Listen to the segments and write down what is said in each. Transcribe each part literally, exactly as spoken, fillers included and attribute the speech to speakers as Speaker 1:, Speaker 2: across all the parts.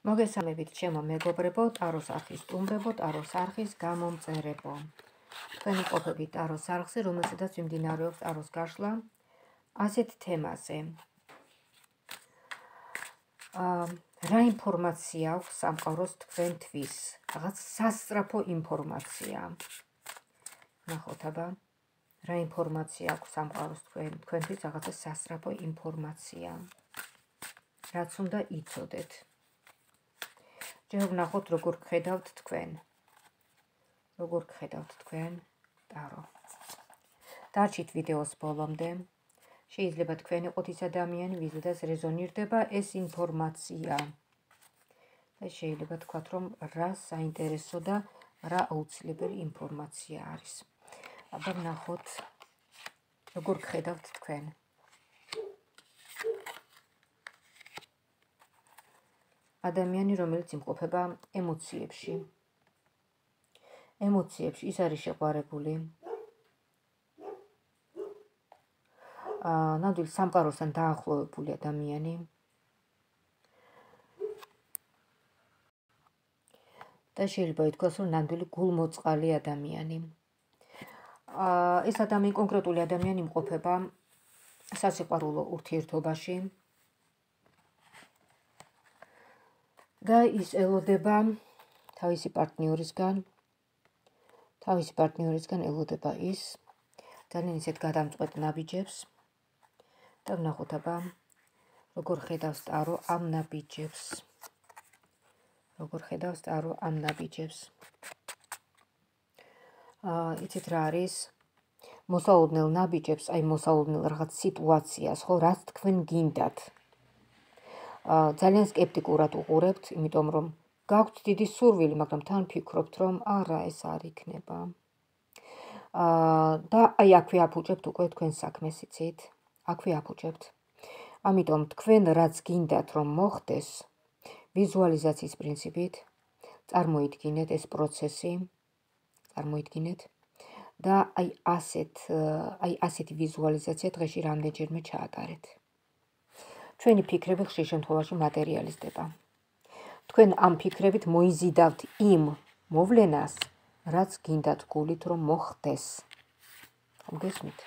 Speaker 1: მოგესალმებით ჩემო მეგობრებო, ტაროს არხის სტუმრებო, ტაროს არხის გამომწერებო. თქვენ ვიყოფებით ტაროს არხზე, რომელზედაც მიმდინარეობს ტაროს გაშლა ასეთ თემაზე. რა ინფორმაცია აქვს სამყაროს თქვენთვის? რაღაც სასწრაფო ინფორმაცია. ნახოთ აბა, რა ინფორმაცია აქვს სამყაროს თქვენთვის? რაღაცა სასწრაფო ინფორმაცია. რაც უნდა იცოდეთ. ჯერ ვნახოთ, როგორ გხედავთ თქვენ. როგორ გხედავთ თქვენ ტარო. დარჩით ვიდეოს ბოლომდე. შეიძლება თქვენ იყოთ ის ადამიანი, ვიზედაც რეზონირდება ეს ინფორმაცია. და შეიძლება თქვათ, რომ რა საინტერესო და რა აუცილებელი ინფორმაცია არის. აბა ვნახოთ, როგორ გხედავთ თქვენ. ადამიანი, რომელიც იმყოფება ემოციებში. ემოციებში ის არის შეყვარებული. ნამდვილ სამყაროსთან დაახლოვებული ადამიანი. და შეიძლება ითქვას, რომ ნამდვილი გულმოწყალი ადამიანი. ეს ადამიანი, კონკრეტული ადამიანი იმყოფება სასიყვარულო ურთიერთობაში. და ის ელოდება თავისი პარტნიორისგან, თავისი პარტნიორისგან ელოდება ის ძალიან ისეთ გადამწყვეტ ნაბიჯებს და ვნახოთ აბა, როგორ ხედავს ტარო ამ ნაბიჯებს. როგორ ხედავს ტარო ამ ნაბიჯებს. იცით რა არის? მოსაოდნელ ნაბიჯებს, აი მოსაოდნელ რაღაც სიტუაციას, ხო, რაც თქვენ გინდათ. ძალიან სკეპტიკურად უყურებთ, იმიტომ რომ გაქვთ დიდი სურვილი, მაგრამ თან ფიქრობთ, რომ არა, ეს არ იქნება. და აი აქვე აფუჭებთ უკვე თქვენ საქმეს, იცით? აქვე აფუჭებთ. ამიტომ თქვენ რაც გინდათ რომ მოხდეს, ვიზუალიზაციის პრინციპით წარმოიდგინეთ ეს პროცესი, წარმოიდგინეთ და აი ასეთ, აი ასეთი ვიზუალიზაცია დღეში რამდენჯერმე ჩაატარეთ. ჩვენი ფიქრები ხშირ შემთხვევაში მატერიალიზდება. თქვენ ამ ფიქრებით მოიზიდავთ იმ მოვლენას, რაც გინდათ გულით რომ მოხდეს. გესმით?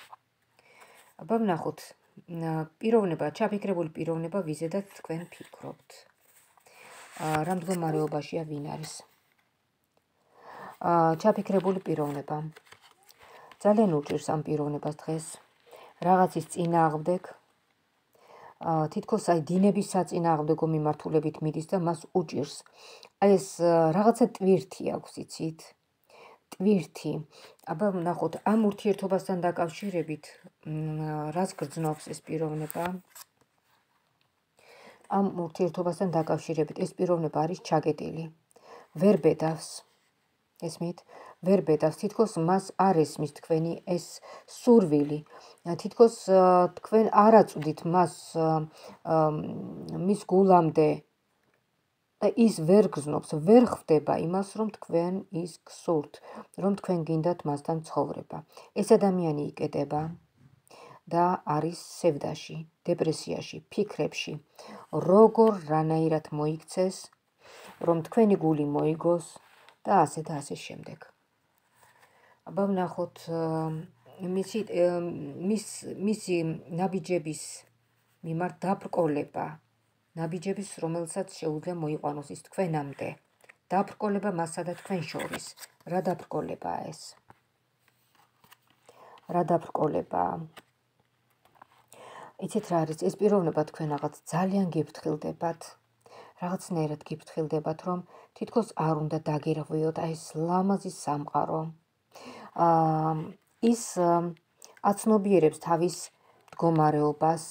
Speaker 1: აბა ვნახოთ, პიროვნება, ჩაფიქრებული პიროვნება, ვიზედაც თქვენ ფიქრობთ. რა მდგომარეობაშია ვინ არის? ჩაფიქრებული პიროვნება. ძალიან უჭირს ამ პიროვნებას დღეს რაღაცის წინააღმდეგ, თითქოს აი დინების საწინააღმდეგო მიმართულებით მიდის და მას უჭირს. აი ეს რაღაცა ტვირთი აქვს, იცით? ტვირთი. აბა ვნახოთ, ამ ურთიერთობასთან დაკავშირებით, რაც გრძნობს ეს პიროვნება. ამ ურთიერთობასთან დაკავშირებით ეს პიროვნება არის ჩაგეტილი. ვერ ბედავს. ესმით? ვერ ბედავს, თითქოს მას არ ესმის თქვენი ეს სურვილი. თითქოს თქვენ არ აწვდით მას მის გულამდე და ის ვერ გრძნობს, ვერ ხვდება იმას, რომ თქვენ ის გსურთ, რომ თქვენ გინდათ მასთან ცხოვრება. ეს ადამიანი იკეტება და არის სევდაში, დეპრესიაში, ფიქრებში, როგორ რანაირად მოიქცეს, რომ თქვენი გული მოიგოს და ასე და ასე შემდეგ. აბა ვნახოთ, მისი მისი ნაბიჯების მიმართ დაბრკოლება, ნაბიჯების, რომელსაც შეუძლია მოიყვანოს ის თქვენამდე. დაბრკოლება მასსა და თქვენ შორის. რა დაბრკოლებაა ეს? რა დაბრკოლებაა? იცით რა არის? ეს პიროვნება თქვენ რაღაც ძალიან გიფრთხილდებათ. რაღაცნაირად გიფრთხილდებათ, რომ თითქოს არ უნდა დაგირღვიოთ აი ეს ლამაზი სამყარო. ის აცნობიერებს თავის მდგომარეობას,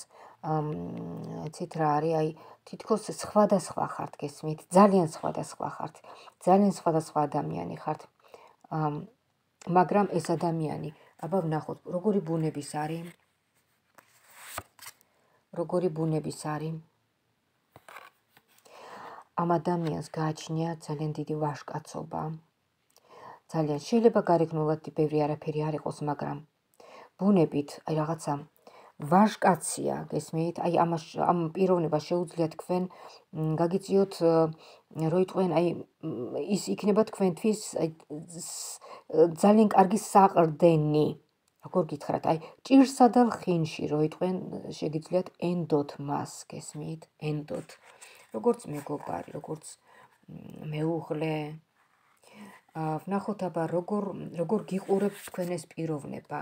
Speaker 1: იცით რა არის? აი თითქოს სხვადასხვა ხართ, გესმით? ძალიან სხვადასხვა ხართ. ძალიან სხვადასხვა ადამიანი ხართ. მაგრამ ეს ადამიანი, აბა ვნახოთ, როგორი ბუნების არის? როგორი ბუნების არის? ამ ადამიანს გააჩნია ძალიან დიდი ვაჟკაცობა. ძალიან შეიძლება გარეგნულად ბევრი არაფერი არ იყოს, მაგრამ ბუნებით, აი რაღაცა ვაჟკაცია, გესმით? აი ამას ამ პიროვნებას შეუძლია თქვენ გაგიწიოთ, როიტყვენ აი ის იქნება თქვენთვის ძალიან კარგი საყრდენი. როგორ გითხრათ, აი ჭირსა და ლხინში როიტყვენ შეგიძლიათ ენდოთ მას, გესმით? ენდოთ. როგორც მეგობარი, როგორც მეუღლე. ვნახოთ აბა როგორ როგორ გიყურებთ თქვენ ეს პიროვნება.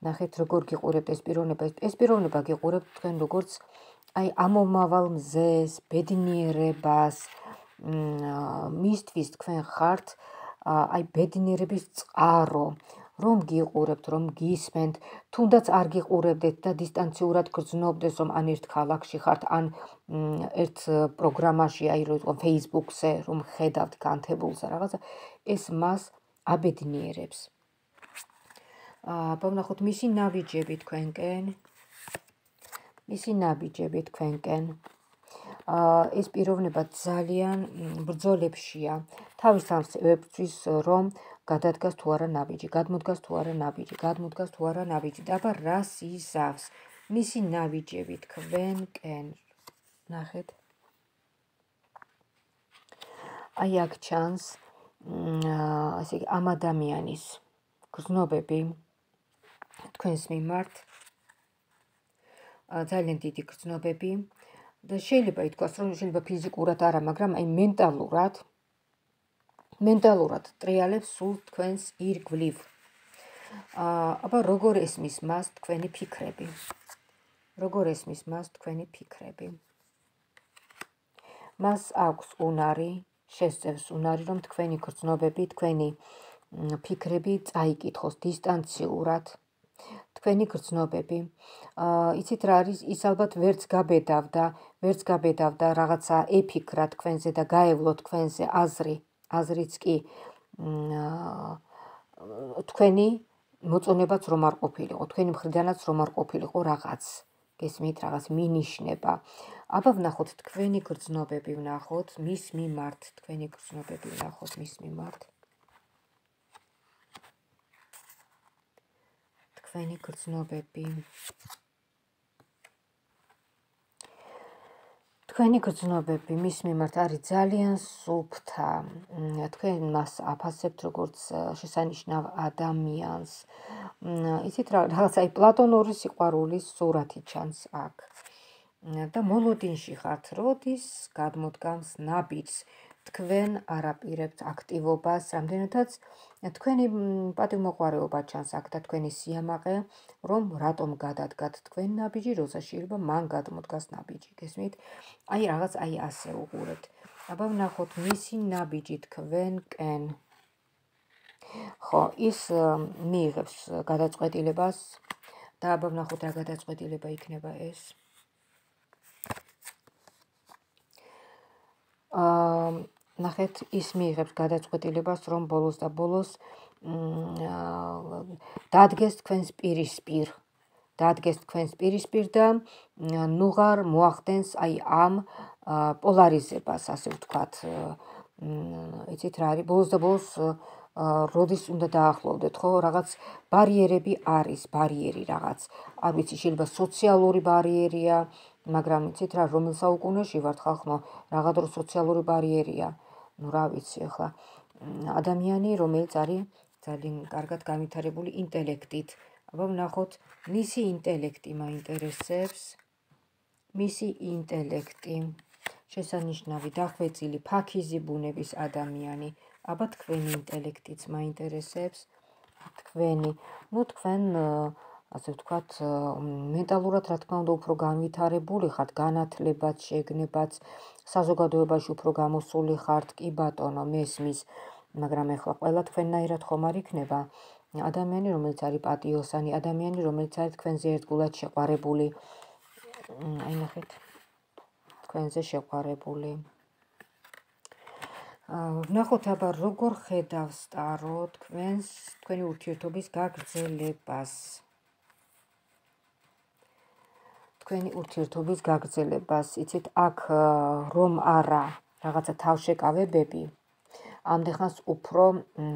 Speaker 1: ნახეთ როგორ გიყურებთ ეს პიროვნება. ეს პიროვნება გიყურებთ თქვენ როგორც აი ამომავალ მზეს, ბედნიერებას, მისთვის თქვენ ხართ აი ბედნიერების წყარო, რომ გიყურებთ, რომ გისმენთ, თუნდაც არ გიყურებდეთ და დისტანციურად გრძნობდეს, რომ ან ერთ ქალაქში ხართ, ან ერთ პროგრამაში, აი რომ Facebook-ზე რომ ხედავთ განთებულსა რაღაცა, ეს მას აბედნიერებს. აბა ვნახოთ მისი ნაბიჯები თქვენკენ. მისი ნაბიჯები თქვენკენ. ეს პიროვნება ძალიან ბრძოლებშია. თავის თავს ებრძვის, რომ გადადგას თუ არა ნაბიჯი, გადმოდგას თუ არა ნაბიჯი, გადმოდგას თუ არა ნაბიჯი. და აბა რას იზავს? მისი ნაბიჯები თქვენკენ. ნახეთ. აი აქ ჩანს ასე ამ ადამიანის გრძნობები თქვენს მიმართ. ძალიან დიდი გრძნობები და შეიძლება ითქვას, რომ შეიძლება ფიზიკურად არა, მაგრამ აი მენტალურად მენტალურად ტრიალებს სულ თქვენს ირგვლივ. აბა როგორ ესმის მას თქვენი ფიქრები? როგორ ესმის მას თქვენი ფიქრები? მას აქვს უნარი, შესწევს უნარი, რომ თქვენი გრძნობები, თქვენი ფიქრები წაიკითხოს დისტანციურად. თქვენი გრძნობები. იცით რა არის? ის ალბათ ვერც გაბედავდა, ვერც გაბედავდა რაღაცა ეფიქრა თქვენზე და გაევლო თქვენზე აზრი, აზრიც კი თქვენი მოწონებაც რომ არ ყოფილიყო, თქვენი მხრიდანაც რომ არ ყოფილიყო რაღაც. გესმით, რაღაც მინიშნება. აბა ვნახოთ თქვენი გრძნობები, ვნახოთ მის მიმართ, თქვენი გრძნობები ვნახოთ მის მიმართ. თქვენი გრძნობები. თქვენი გრძნობები მის მიმართ არის ძალიან სუფთა. თქვენ მას აფასებთ როგორც შესანიშნავ ადამიანს. იცით რა, რაღაც აი პლატონური სიყვარულის სურათი ჩანს აქ. და მოლოდინში ხართ, როდის გადმოდგამს ნაბიჯს. თქვენ არაპირებთ აქტივობას, რამდენადაც თქვენი პატივმოყვარეობა ჩანს აქ და თქვენი სიამაყე, რომ რატომ გადადგათ თქვენ ნაბიჯი, როცა შეიძლება მან გადმოდგას ნაბიჯი, გესმით? აი რაღაც აი ასე უყურებთ. აბა ვნახოთ მისი ნაბიჯი თქვენკენ. ხო, ის მიიღებს გადაწყვეტილებას და აბა ვნახოთ რა გადაწყვეტილება იქნება ეს. ნახეთ, ის მიიღებს გადაწყვეტილებას, რომ ბოლოს და ბოლოს დადგეს თქვენს პირისპირ. დადგეს თქვენს პირისპირ და ნუღარ მოახდენს აი ამ პოლარიზებას, ასე ვთქვათ. იცით რა არის? ბოლოს და ბოლოს როდის უნდა დაახლოვდეთ, ხო? რაღაც ბარიერები არის, ბარიერი რაღაც. არ ვიცი, შეიძლება სოციალური ბარიერია, მაგრამ იცით რა, რომელ საუკუნეში ვართ ხალხო, რაღა დრო სოციალური ბარიერია. ნუ რა ვიცი, ახლა ადამიანი, რომელიც არის ძალიან კარგად განვითარებული ინტელექტით. აბა ვნახოთ, მისი ინტელექტი მაინტერესებს. მისი ინტელექტი. შესანიშნავი, დახვეწილი, ფაქიზი ბუნების ადამიანი. აბა თქვენი ინტელექტიც მაინტერესებს. თქვენი, ნუ თქვენ ასე ვთქვათ, მენტალურად რა თქმა უნდა უფრო განვითარებული ხართ, განათლებაც, შეგნებაც, საზოგადოებაში უფრო გამოსული ხართ, კი ბატონო, მესმის, მაგრამ ეხლა ყველა თქვენნაირად ხომ არ იქნება. ადამიანი, რომელიც არის პატიოსანი, ადამიანი, რომელიც არის თქვენზე ერთგულად შეყვარებული. აი ნახეთ, თქვენზე შეყვარებული. ვნახოთ აბა როგორ ხედავს ტარო თქვენს, თქვენი ურთიერთობის გაგრძელებას. თქვენი ურთიერთობის გაგრძელებას. იცით, აქ რომ არა რაღაცა თავშეკავებები, ამდენხანს უფრო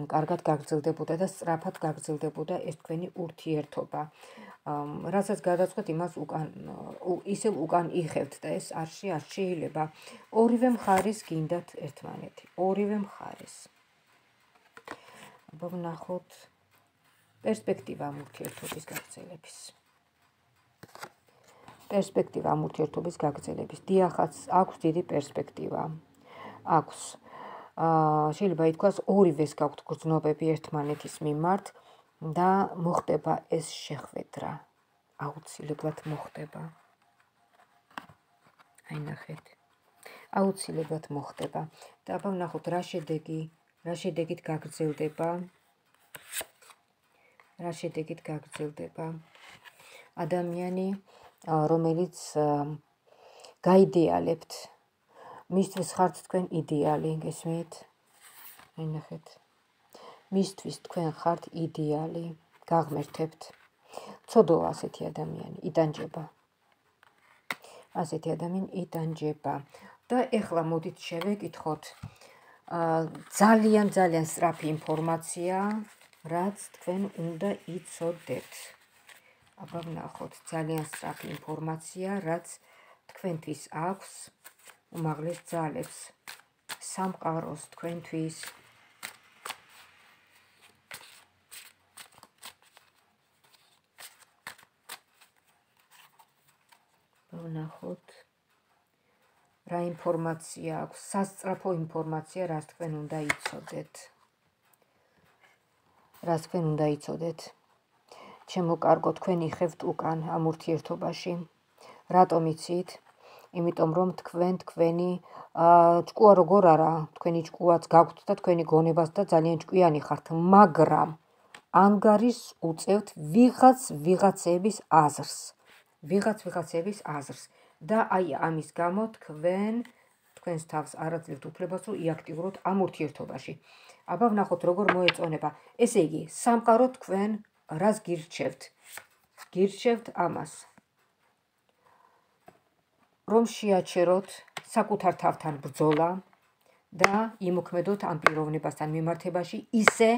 Speaker 1: კარგად გაგრძელდებოდა და სწრაფად გაგრძელდებოდა ეს თქვენი ურთიერთობა. რასაც გადაწყვეტ, იმას უკან ისევ უკან იხევთ და ეს არში არ შეიძლება. ორივე მხარის გინდათ ერთმანეთი. ორივე მხარის. აბა ვნახოთ პერსპექტივა ამ ურთიერთობის გაგრძელების. პერსპექტივა ამ ურთიერთობის გაგრძელების. დიახაც, აქვს დიდი პერსპექტივა. აქვს. შეიძლება ითქვას, ორივეს გაქვთ გრძნობები ერთმანეთის მიმართ და მოხდება ეს შეხვედრა. აუცილებლად მოხდება. აი ნახეთ. აუცილებლად მოხდება. და აბა ვნახოთ რა შედეგი, რა შედეგით გაგრძელდება. რა შედეგით გაგრძელდება. ადამიანი, რომელიც გაიდეალებთ, მისთვის ხართ თქვენ იდეალი, გესმით? აი ნახეთ. მისთვის თქვენ ხართ იდეალი, გაღმერთებთ. ცოდოა ასეთი ადამიანი, იტანჯება. ასეთი ადამიანი იტანჯება. და ეხლა მოდით შევეკითხოთ ძალიან ძალიან სწრაფი ინფორმაცია, რაც თქვენ უნდა იცოდეთ. აბა ვნახოთ ძალიან სწრაფი ინფორმაცია, რაც თქვენთვის აქვს უმაღლეს ძალებს, სამყაროს თქვენთვის. ვნახოთ რა ინფორმაცია აქვს, სასწრაფო ინფორმაცია, რაც თქვენ უნდა იცოდეთ. რაც თქვენ უნდა იცოდეთ. ჩემო კარგო, თქვენ იხევთ უკან ამ ურთიერთობაში. რატომ იცით? იმიტომ რომ თქვენ თქვენი ჭკუა როგორ არა, თქვენი ჭკუაც გაქვთ და თქვენი გონებას და ძალიან ჭკვიანი ხართ, მაგრამ ანგარიშს უწევთ ვიღაც ვიღაცების აზრს. ვიღაც ვიღაცების აზრს. და აი ამის გამო თქვენ თქვენს თავს არ აძლევთ უფლებას, რომ იაქტიუროთ ამ ურთიერთობაში. აბა ვნახოთ როგორ მოეწონება. ესე იგი, სამყარო თქვენ რას გირჩევთ? გირჩევთ ამას, რომ შეაჩეროთ საკუთარ თავთან ბრძოლა და იმოქმედოთ ამ პიროვნებასთან მიმართებაში ისე,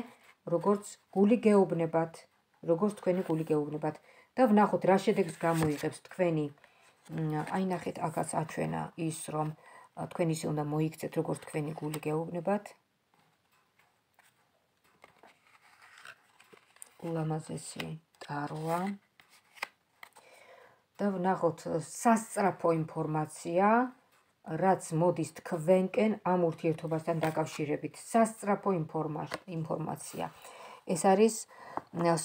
Speaker 1: როგორც გული გეუბნებათ, როგორც თქვენი გული გეუბნებათ. და ვნახოთ რა შედეგს გამოიღებს თქვენი. აი ნახეთ, აქაც აჩვენა ის, რომ თქვენ ისე უნდა მოიქცეთ, როგორც თქვენი გული გეუბნებათ. ულამაზესი ტაროა. და ვნახოთ სასწრაფო ინფორმაცია, რაც მოდის თქვენკენ ამ ურთიერთობასთან დაკავშირებით. სასწრაფო ინფორმაცია. ეს არის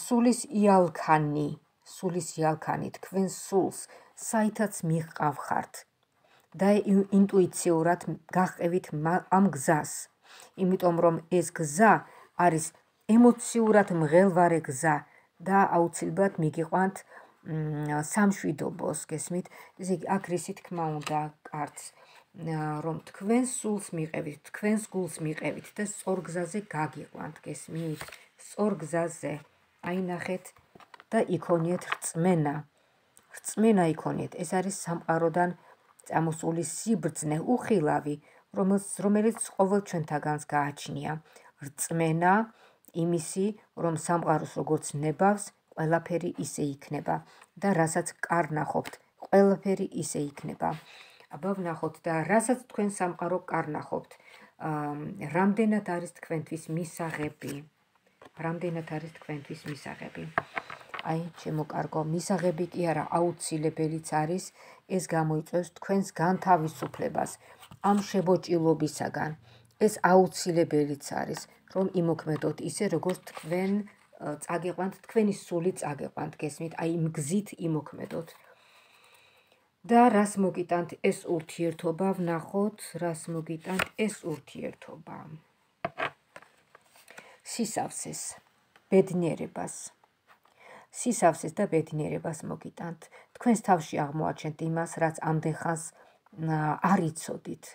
Speaker 1: სულის იალქანი, სულის იალქანი, თქვენ სულს, საითაც მიყავხართ და ინტუიციურად გაყევით ამ გზას. იმიტომ რომ ეს გზა არის ემოციურად მღელვარე გზა და აუცილებლად მიგიყვანთ სამშვიდობოს, გესმით? ესე იგი, აქ რისი თქმა უნდა კარts, რომ თქვენ სულს მიყევით, თქვენს გულს მიყევით და სწორ გზაზე გაგიყვანთ, გესმით? სწორ გზაზე. აი ნახეთ და იქონიეთ რწმენა. რწმენა იქონიეთ. ეს არის სამყაროდან წამოსული სიბრძნე, უხილავი, რომელიც ყოველ ჩვენთაგანს გააჩნია. რწმენა იმისი, რომ სამყაროს როგორც ნებავს, ყველაფერი ისე იქნება და რასაც კარნახობთ, ყველაფერი ისე იქნება. აბა ვნახოთ და რასაც თქვენ სამყარო კარნახობთ, რამდენად არის თქვენთვის მისაღები. რამდენად არის თქვენთვის მისაღები. აი, ჩემო კარგო, მისაღები კი არა, აუცილებელიც არის, ეს გამოიწვევს თქვენს განთავისუფლებას ამ შებოჭილობისაგან. ეს აუცილებელიც არის, რომ იმოქმედოთ ისე, როგორც თქვენ წაგიყვანთ, თქვენი სული წაგიყვანთ, გესმით? აი, იმ გზით იმოქმედოთ. და რას მოგიტანთ ეს ურთიერთობა, ვნახოთ, რას მოგიტანთ ეს ურთიერთობა. სისავსეს, ბედნიერებას. სისავსეს და ბედნიერებას მოგიტანთ. თქვენს თავში აღმოაჩენთ იმას, რაც ამდენხანს არ იცოდით.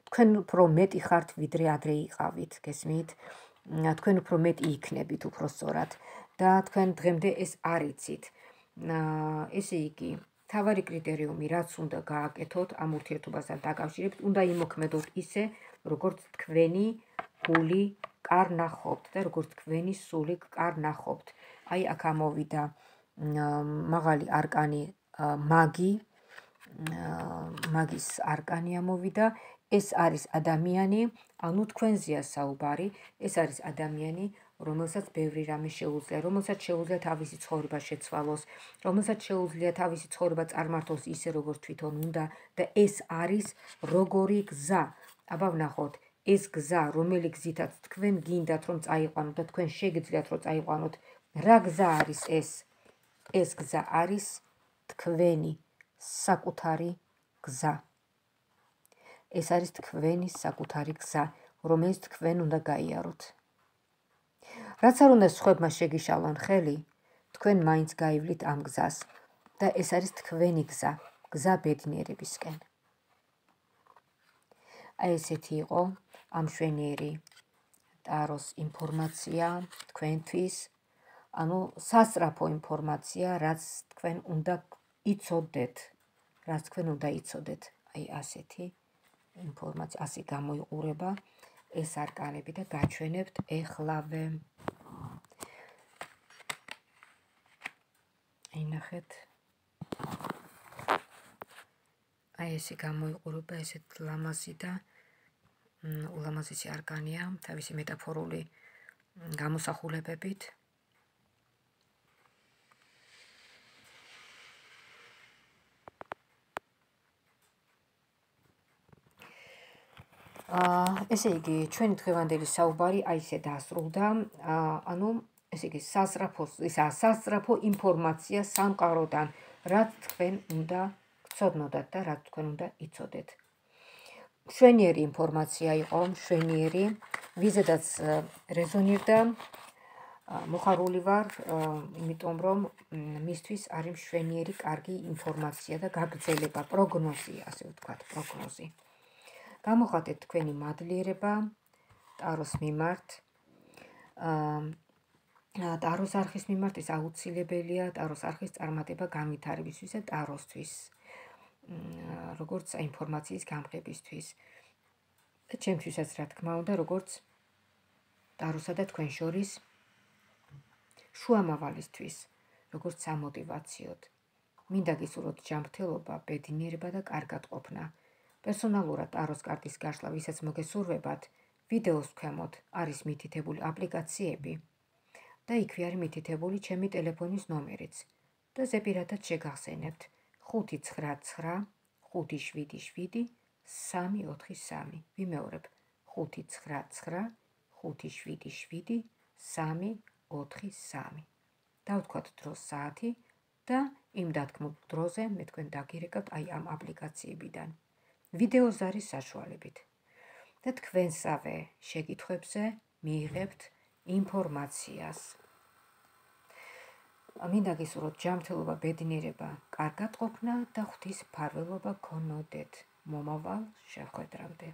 Speaker 1: თქვენ უფრო მეტი ხართ, ვიდრე ადრე იყავით, გესმით? თქვენ უფრო მეტი იქნებით, უფრო სწორად და თქვენ დღემდე ეს არ იცით. ესე იგი, თავარი კრიტერიუმი, რაც უნდა გააკეთოთ ამ ურთიერთობასთან დაკავშირებით, უნდა იმოქმედოთ ისე, როგორც თქვენი გული კარ ნახობთ და როგორც თქვენი სული კარ ნახობთ. აი აქ ამოვიდა მაღალი არკანი მაგი, მაგის არკანი ამოვიდა. ეს არის ადამიანი, ანუ თქვენზეა საუბარი, ეს არის ადამიანი, რომელსაც ბევრი რამე შეუძლია, რომელსაც შეუძლია თავისი ცხოვრება შეცვალოს, რომელსაც შეუძლია თავისი ცხოვრება წარმართოს ისე, როგორც თვითონ უნდა და ეს არის როგორი გზა. აბა ვნახოთ, ეს გზა, რომელი გზითაც თქვენ გინდათ რომ წაიყვანოთ და თქვენ შეგიძლიათ რომ წაიყვანოთ, რა გზა არის ეს? ეს გზა არის თქვენი საკუთარი გზა. ეს არის თქვენი საკუთარი გზა, რომელიც თქვენ უნდა გაიაროთ. რაც არ უნდა სხვებმა შეგიშალონ ხელი, თქვენ მაინც გაივლით ამ გზას და ეს არის თქვენი გზა, გზა ბედნიერებისკენ. აი ესეთი იყო ამ მშვენიერი ტაროს ინფორმაცია თქვენთვის, ანუ სასწრაფო ინფორმაცია, რაც თქვენ უნდა იცოდეთ, რაც თქვენ უნდა იცოდეთ. აი ასეთი ინფორმაცია, ასე გამოიყურება ეს არკანები და გაჩვენებთ ეხლავე. აი ნახეთ. აი ესე გამოიყურება ესეთ ლამაზი და ულამაზესი არკანია თავისი მეტაფორული გამოსახულებებით. ესე იგი, ჩვენი დღევანდელი საუბარი აი ესე დასრულდა. ანუ ესე იგი, სასწრაფო ინფორმაცია სამყაროდან, რაც თქვენ უნდა გცოდნოდათ და რაც თქვენ უნდა იცოდეთ. მშვენიერი ინფორმაცია იყო, მშვენიერი, ვიზედაც რეზონირდა, მოხარული ვარ, იმიტომ რომ მისთვის არის მშვენიერი, კარგი ინფორმაცია და გაგრძელება, პროგნოზი, ასე ვთქვათ, პროგნოზი. გამოხატეთ თქვენი მადლიერება ტაროს მიმართ. ტაროს არხის მიმართ ეს აუცილებელია, ტაროს არხის წარმატება განვითარებისთვის და ტაროსთვის, როგორც ინფორმაციის გამყებისთვის. და ჩემთვისაც რა თქმა უნდა, როგორც ტაროსა და თქვენ შორის შუამავალისთვის, როგორც სამოტივაციოდ. მინდა გისურვოთ ჯანმრთელობა, ბედნიერება და კარგადყოფნა. პერსონალურად ტაროს კარტის გაშლა, ვისაც მოგესურვებათ, ვიდეოს ქვემოთ არის მითითებული აპლიკაციები და იქვე არის მითითებული ჩემი ტელეფონის ნომერიც და ზეპირადად შეგახსენებთ ხუთი ცხრა ცხრა ხუთი შვიდი შვიდი სამი ოთხი სამი. ვიმეორებ ხუთი ცხრა ცხრა ხუთი შვიდი შვიდი სამი ოთხი სამი. დავთქვათ დროს საათი და იმ დათქმულ დროზე მე თქვენ დაგირეკავთ აი ამ აპლიკაციებიდან. ვიდეოს არის საშუალებით და თქვენსავე შეკითხვებზე მიიღებთ ინფორმაციას. მინდა გისურვოთ ჯანმრთელობა, ბედნიერება, კარგადყოფნა და ღვთის მფარველობა გქონოდეთ. მომავალ შეხვედრამდე.